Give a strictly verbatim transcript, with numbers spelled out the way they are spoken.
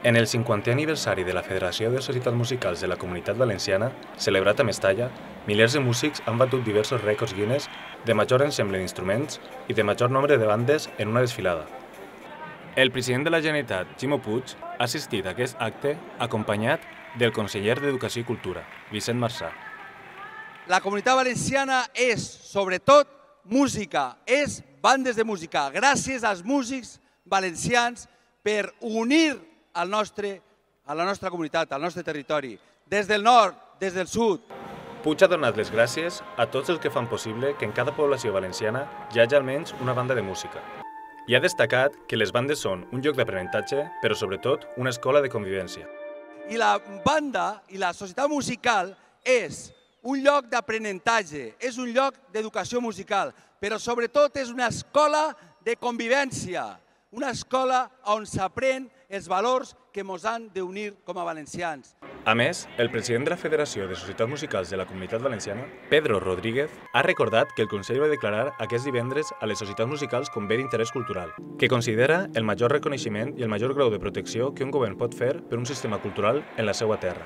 En el cinquantè aniversari de la Federació de Societats Musicals de la Comunitat Valenciana, celebrat a Mestalla, milers de músics han batut diversos rècords Guinness de major ensemble d'instruments i de major nombre de bandes en una desfilada. El president de la Generalitat, Ximo Puig, ha assistit a aquest acte acompanyat del conseller d'Educació i Cultura, Vicent Marsà. La Comunitat Valenciana és, sobretot, música, és bandes de música. Gràcies als músics valencians per unir al nostre, a la nostra comunitat, al nostre territori, des del nord, des del sud. Puig ha donat les gràcies a tots els que fan possible que en cada població valenciana hi hagi almenys una banda de música. I ha destacat que les bandes són un lloc d'aprenentatge, però sobretot una escola de convivència. I la banda i la societat musical és un lloc d'aprenentatge, és un lloc d'educació musical, però sobretot és una escola de convivència, una escola on s'aprèn els valors que ens han d'unir com a valencians. A més, el president de la Federació de Societats Musicals de la Comunitat Valenciana, Pedro Rodríguez, ha recordat que el Consell va declarar aquest divendres a les societats musicals com bé d'interès cultural, que considera el major reconeixement i el major grau de protecció que un govern pot fer per un sistema cultural en la seva terra.